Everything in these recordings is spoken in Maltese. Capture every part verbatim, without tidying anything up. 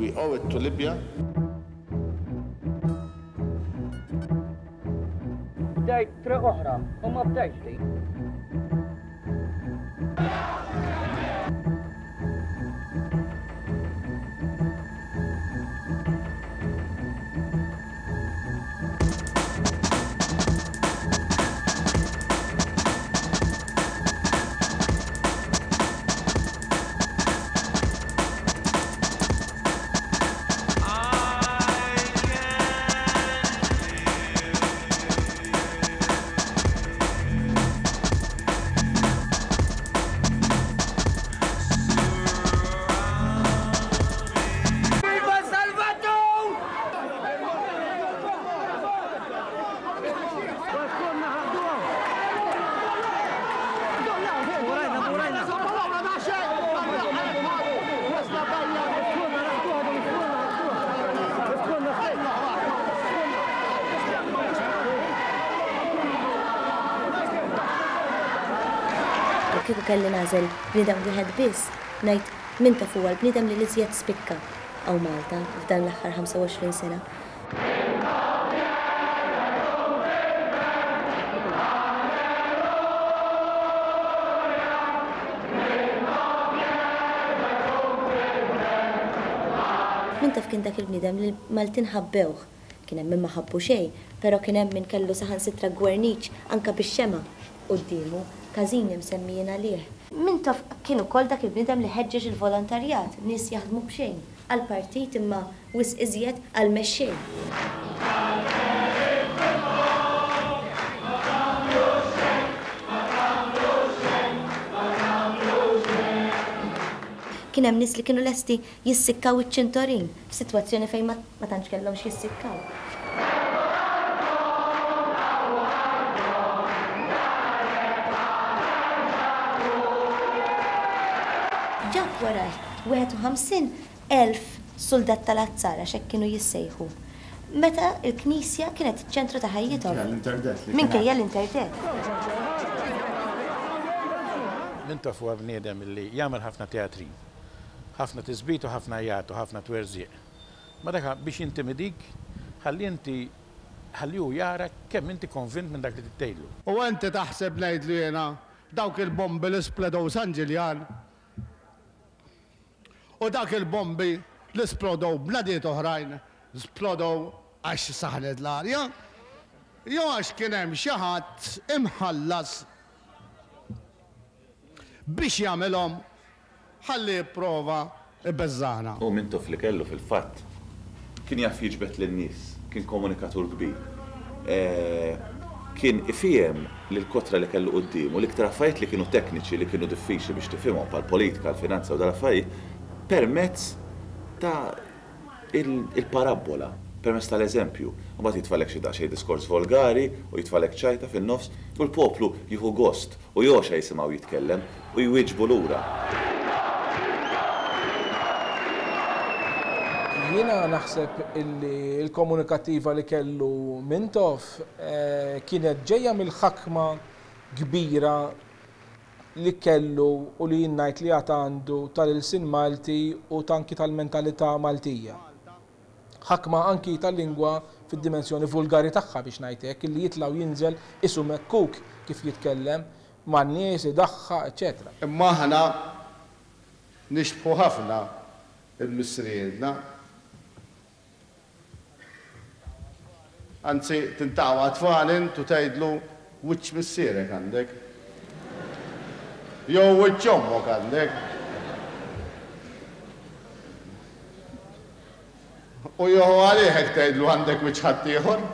We owe it to Libya. Bdejt triq oħra u ma bdejtx din. Kieku kelli nagħżel bniedem wieħed biss, ngħid Mintoff huwa l-bniedem li l-iżjed spikka hawn Malta f'dan l-aħħar ħamsa u għoxrin sena. Mintoff kien dak il-bniedem li l-Maltin ħabbewh. Kien hemm min ma ħabbu xejn, però kien hemm min kellu saħansitra gwerniċ anke bix-xema' quddiemu, każini msemmijin għalih. Mintoff kien ukoll dak il-bniedem li ħeġġeġ il-volontarjat, nies jaħdmu b'xejn, għall-partit imma wisq iżjed għall-mexxej. Kien hemm nies li kienu lesti jissikkaw iċ-ċintorin f'sitwazzjoni fejn ma, ma tantx kellhomx jissikkaw. Ġab warajh wieħed u ħamsin elf soldat tal-azzar għax hekk kienu jissejħu. Meta l-Knisja kienet iċ-ċentru ta' ħajjithom. Minkejja l-interdett. Mintoff huwa bniedem li jagħmel ħafna teatrin, ħafna tisbit u ħafna jgħat u ħafna twerżieq. Ma dak biex jintimidik, ħalli inti, ħalli hu jara kemm inti konvint minn dak li tittejlu. U inti taħseb ngħidlu jiena dawk il-bombi li spledow San Ġiljan u dak il-bombi li splodow bnadiet oħrajn splodow għax saħnet l-arja, jew għax kien hemm xi ħadd imħallas biex jagħmilhom ħalli jipprova jbeżżana. U Mintoff li kellu fil-fatt kien jaf jiġbed lin-nies, kien komunikatur kbir. Kien ifhem lil kotra li kellu quddiemu l-iktar affarijiet li kienu tekniċi li kienu diffiċli biex tifhimhom bħall-politika, l-finanza u dal-affarijiet permezz ta' il-parabbola, permezz tal-eżempju. U mbagħad jitfalek xi daqsxejn diskors volgari u jitfalek ċajta fin-nofs u l-poplu jieħu gost u joxa jisimgħu jitkellem u jwieġbu lura. Jiena naħseb illi l-komunikattiva li kellu Mintoff, eh, kienet ġejja mill-ħakma kbira li kellu u li jien ngħid li għad għandu tal-ilsien Malti u anki tal-mentalità Maltija. Ħakma anki tal-lingwa fid-dimensjoni vulgari tagħha biex ngħid hekk, illi jitla' u jinżel isu mekkuk kif jitkellem man-nies, idaħħa, eċċetera. Imma aħna nixbħu ħafna il-missirietna. Anzi, tintaqwa tfal int u tgħidlu wiċċ missierek għandek. Jew wiċċ ommok għandek. U jew għalih hekk tgħidlu għandek wiċċ ħaddieħor.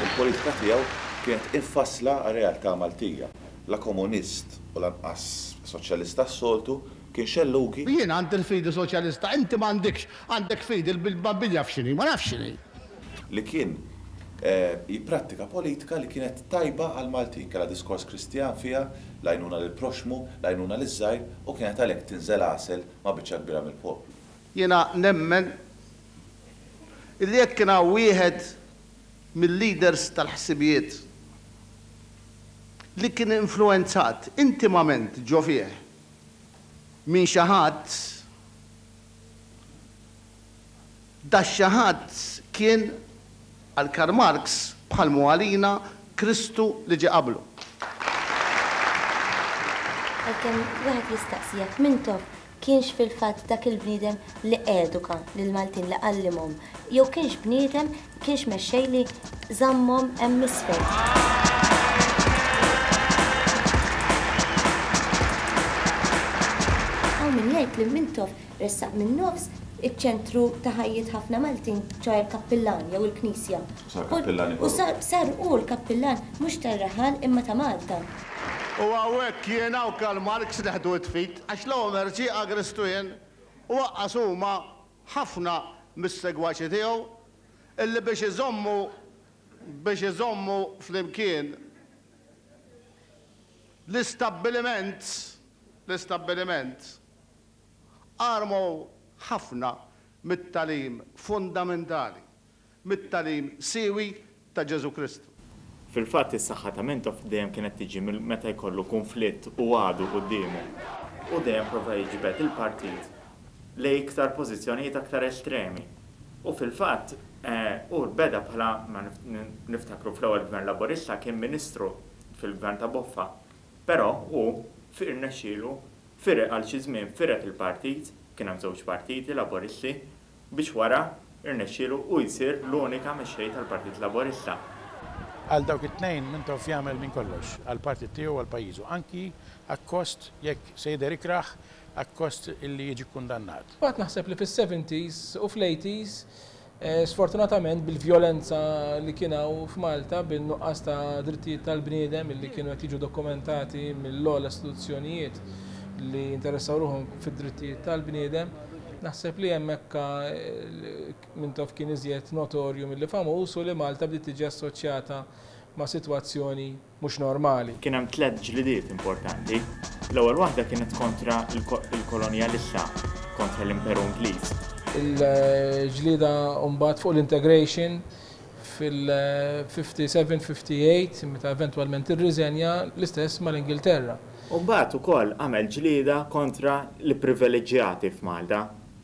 Il-politika tiegħu kienet infassla għar-realtà Maltija. La komunist u lanqas soċjalista s-soltu kien xellugi. Jien għandi l-fidi soċjalista, inti m'għandikx, għandek fidi l-bil-bambilja f'xini, ma nafx x'inhi. Li kien, eh, jipprattika politika li kienet tajba għal Maltin, kellha diskors Kristjan fiha, l-għajnuna lill-proxmu, l-għajnuna liż-żgħir u kienet għalhekk tinżel għasel ma' biċċa kbira mill-poplu. Jiena nemmen illi jekk kien hawn wieħed mill-leaders tal-ħsibijiet li kien influenzat intimament ġo fih minn xi ħadd, da xi ħadd kien għal Karl Marx bħal għalina Kristu li ġie qablu. Għalkemm wieħed jistaqsi jekk Mintoff kienx fil-fatt dak il-bniedem li eduka lill-Maltin, li għallimhom, jew kienx bniedem, kienx mexxej li żammhom hemm isfel. Hawn min jgħid li Mintoff ressaq minn nofs iċ-ċentru ta' ħajjiet ħafna Maltin, ċoħe l-kappillan jew il-knisja. U sar hu l-kappillan mhux tar-raħal imma ta' Malta. U hawnhekk jiena u Karl Marx neħdu t-tfit, għax l-ewwel merġieqa Kristu jien u waqqas huma ħafna mis-segwaċi tiegħu illi biex iżommu biex iżommu flimkien l-istabbiliment l-istabbiliment armu ħafna mit-tagħlim fundamentali, mit-tagħlim siwi ta' Ġesù Kristu. Fil-fatt is-saħħa ta' Mintoff dejjem kienet tiġi meta jkollu konflitt u għadu quddiemu. U dejjem prova jiġbed il-partit lejn iktar pożizzjonijiet aktar estremi. U fil-fatt hu beda bħala, ma niftakru fl-ewwel gvern Laburista kien ministru fil-gvern ta' Boffa. Però hu irnexxielu fireq għal xi żmien fireq il-partit, kien hemm żewġ partiti Laburisti, biex wara irnexxielu u jsir l-unika mexxej tal-Partit Laburista. Għal dawk it-tnejn Mintoff jagħmel minn kollox, għal partit tiegħu għal pajjiżu, anki akkost jekk se jidher ikraħ, akkost illi jiġi kundannat. Mbagħad naħseb li fis-seventies u fl-eighties, sfortunatament bil-vjolenza li kien hawn f'Malta, bin-nuqqas ta' drittijiet tal-bniedem illi kienu qed jiġu dokumentati mill-ogħla istituzzjonijiet li interessaw ruħhom fid-drittijiet tal-bniedem, naħseb li hemmhekk Mintoff kien iżjed notorju milli famuż u li Malta bdiet tiġi assoċjata ma' sitwazzjoni mhux normali. Kien hemm tliet ġlidiet importanti. L-ewwel waħda kienet kontra il-kolonjalista, kontra l-Imperu Ingliż. Il-ġlieda mbagħad fuq l-integration fil-fifty-seven fifty-eight, meta eventwalment irriżenja l-istess mal-Ingilterra. U mbagħad ukoll għamel ġlieda kontra l-privileġġjati f'Malta,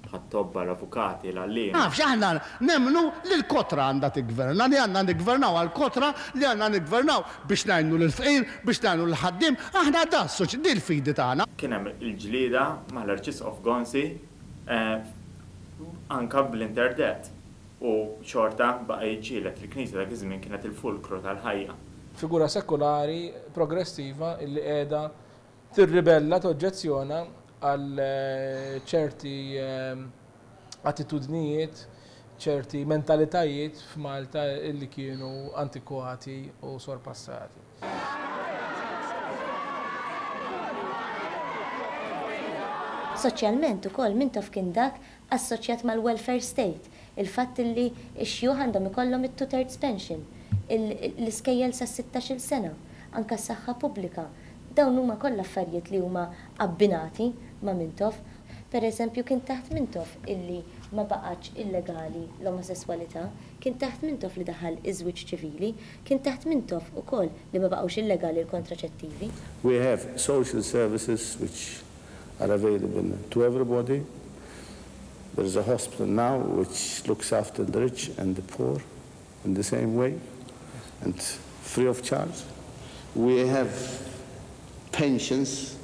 bħat-tobba, l-avukati, l-għalliema. Nafx, aħna nemmnu li l-kotra għandha tiggverna, li għandna niggvernaw għall-kotra, li għandna niggvernaw biex ngħinu lill-fqir, biex ngħinu lill-ħaddiem, aħna da s-soċ-, di l-fidi tagħna. Kien hemm il-ġlieda mal-Arċisqof Gonzi anka bl-interdett u xorta baqa' jiġġieled. Il-Knisja dak iż-żmien kienet il-fulkru tal-ħajja. Figura sekulari progressiva illi qiegħda tirribella, toġġezzjona għal ċerti attitudnijiet, ċerti mentalitajiet f'Malta illi kienu antikwati u sorpassati. Soċjalment ukoll Mintoff kien dak assoċjat mal-welfare state, il-fatt illi x-xjuħ għandhom ikollhom it-two thirds pension, l-iskejjel sa sittax-il sena, anka s-saħħa pubblika. Dawn huma kollha affarijiet li huma abbinati ma' Mintoff. Per eżempju, kien taħt Mintoff illi ma baqgħetx illegali l-omosessualità, kien taħt Mintoff li daħal iż-żwieġ ċivili, kien taħt Mintoff ukoll li ma baqgħux illegali l-kontraċettivi. We have social services which are available to everybody. There is a hospital now which looks after the rich and the poor in the same way and free of charge. We have pensions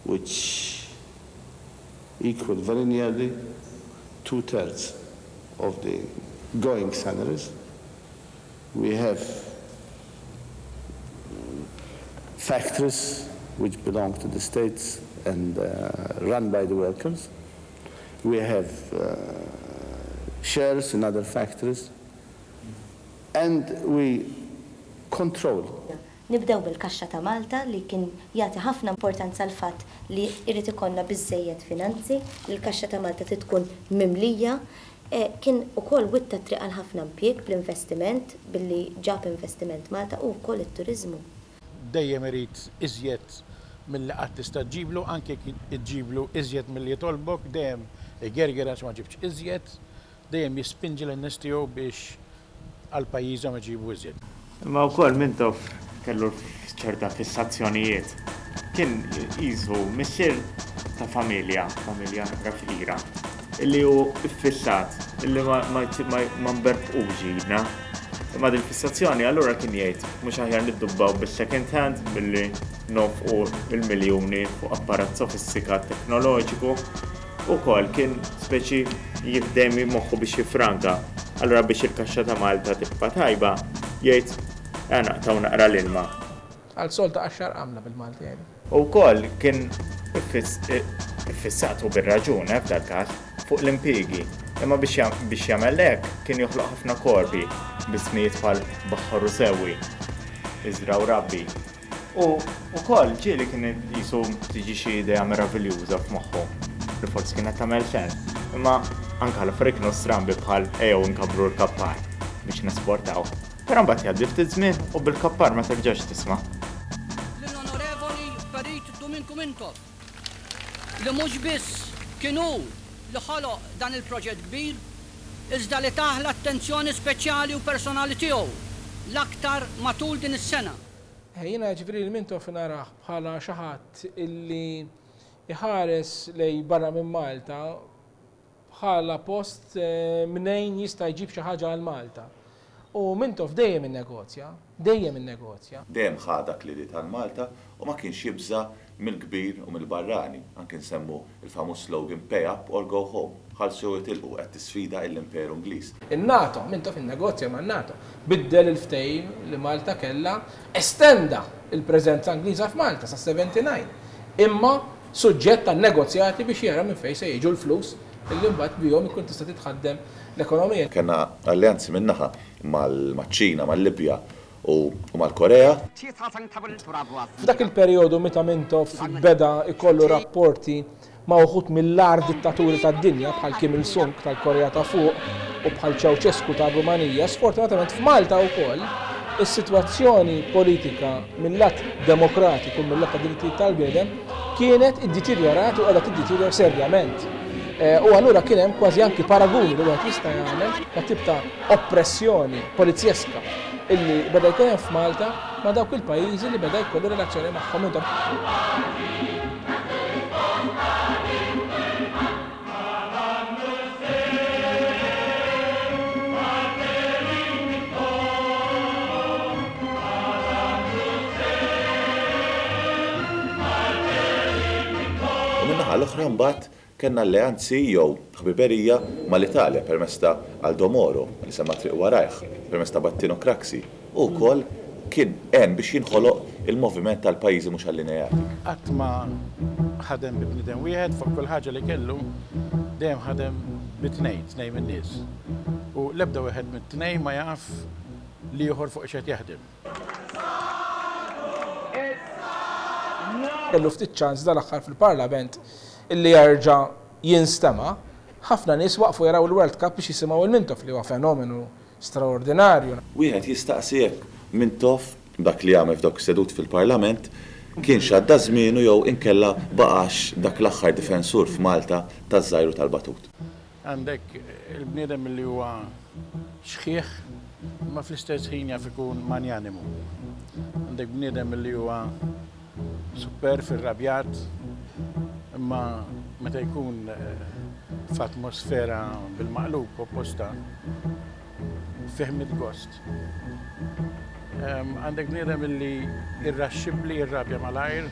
which equal very nearly two-thirds of the going salaries. We have factories which belong to the states and, uh, run by the workers. We have, uh, shares in other factories, and we control. Nibdew bil-Kaxxa ta' Malta li kien jagħti ħafna importanza l fatt li jrid ikollna biżżejjed finanzi, li l-Kaxxa ta' Malta trid tkun mimlija. Kien ukoll witta triq għal ħafna impjieg bl-investiment, billi ġab investiment Malta u wkoll it-turiżmu. Dejjem irid iżjed milli qatt tista' ġġiblu, anke jekk iġġiblu iżjed milli jitolbok, dejjem igerger għax ma ġibx iżjed, dejjem jispinġi lin-nies tiegħu biex għal pajjiżhom iġibu iżjed. Imma wkoll Mintoff kellu ċerta fissazzjonijiet. Kien qisu missier ta' familja, familja naqra fqira, illi hu iffissat, illi ma, ma, ma, ma nberbqux ġidna. Imma din fissazzjoni allura kien jgħid mhux aħjar niddubbaw bis-second hand billi nofqu il-miljuni fuq apparat sofistikat teknoloġiku. Ukoll kien speċi jihdemi moħħu biex jifranka. Allura biex il-kaxxa ta' Malta tibqa' tajba, jgħid eh naqtaw naqra l-ilma. Għal solta għaxar għamla bil-Malti għajdu. U wkoll kien iffissatu bir-raġun eh, f'dal-każ fuq l-impjiegi. Imma biex biex jagħmel hekk kien joħloq ħafna korpi b'ismijiet bħal Baħħar u Sewwi, Iżra u Rabbi. U wkoll ġieli kien jisu tiġi xi idea meraviljuża f'moħħu li forsi kienet tagħmel sens. Imma anke l-affarijiet kienu strambi bħal ejjew nkabbru l-kappar biex nesportaw. Però mbagħad jgħaddi ftit żmien u bil-kappar ma terġax tisma'. L-Onorevoli Perit Duminku Mintoff, li mhux biss kien hu li ħoloq dan il-proġett kbir, iżda li tah l-attenzjoni speċjali u personali tiegħu l-aktar matul din is-sena. Jiena ġifieri l-Mintoff narah bħala xi ħadd illi iħares lej barra minn Malta bħala post mnejn jista' jġib xi ħaġa għal Malta. U Mintoff dejjem innegozja, dejjem innegozja. Dejjem ħa dak li ried għal Malta u ma kienx jibża' mill-kbir u mill-barrani. Anke nsemmu il-famuż slogan "Pay up or go home". Ħallsu jew itilqu, qed tisfida l-Imperu Ingliż. Il-NATO, Mintoff innegozja man-NATO. Biddel il-ftehim li Malta kellha, estenda il-preżenza Ingliża f'Malta sa sebgħa u sebgħin. Imma suġġett tan negozjati biex jara minn fejn se jiġu l-flus illi mbagħad bihom ikun tista' titħaddem l-ekonomija. Kellna alleanzi min-naħa mal-Ċina, mal-Libja u mal-Korea. F'dak il-perjodu meta Mintoff beda ikollu rapporti ma' uħud mill-agħar dittaturi tad-dinja bħal Kim Il-sung tal-Korea ta' fuq u bħal Ceausescu ta' Rumanija, sfortunatament f'Malta wkoll is-sitwazzjoni politika mill-lat demokratiku, mill-lat ta' drittijiet tal-bniedem kienet iddeterjorat u qiegħda tiddeterjora serjament. U allura kien hemm kważi anki paraguni li wieħed jista' jagħmel ta' tip ta' oppressjoni polizjeska illi beda jkun hemm f'Malta ma' dawk il-pajjiżi li beda jkollu relazzjoni magħhom intom. U min-naħa l-oħra mbagħad kellna alleanzi jew ħbiberija mal-Italja permezz ta' Aldo Moro, li semma triq warajh, permezz ta' Bettino Craxi, u wkoll kien hemm biex jinħoloq il-moviment tal-pajjiżi mhux allineati. Qatt ma ħadem bi bniedem wieħed fuq kull ħaġa li kellu, dejjem ħadem bi tnejn, tnejn min-nies. U l-ebda wieħed mit-tnejn ma jaf l-ieħor fuq x'qed jaħdem. Kellu ftit ċans dal-aħħar fil-Parlament illi jerġa' jinstema', ħafna nies waqfu jaraw il-World Cup biex jisimgħu il-Mintoff li huwa fenomenu straordinarju. Wieħed jistaqsi jekk Mintoff dak li għamel f'dawk sedut fil-Parlament kienx għadda żmienu jew inkella baqax dak l-aħħar difensur f'Malta taż-żgħir u tal-batut. Għandek il-bniedem li huwa xħieħ imma fl-istess ħin jaf ikun manjanimu. Għandek bniedem li huwa super fir-rabjat imma meta jkun f'atmosfera bil-maqlub opposta fih mitt gost. Għandek bniedem li irraxxibbli, irrabja malajr,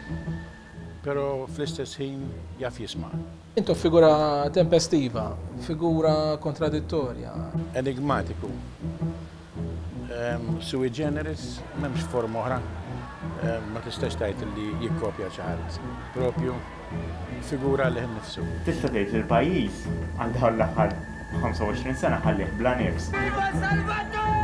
però fl-istess ħin jaf jisma'. Mintoff figura tempestiva, figura kontradittorja. Enigmatiku. Sui generis, m'hemmx forma oħra. Ma tistax tgħid li jikkopja xi ħadd. Propju figura li nnifsu. Tista' tgħid li l-pajjiż għal dawn l-aħħar ħamsa u għoxrin sena ħallih bla nifs. Viva Salvatore!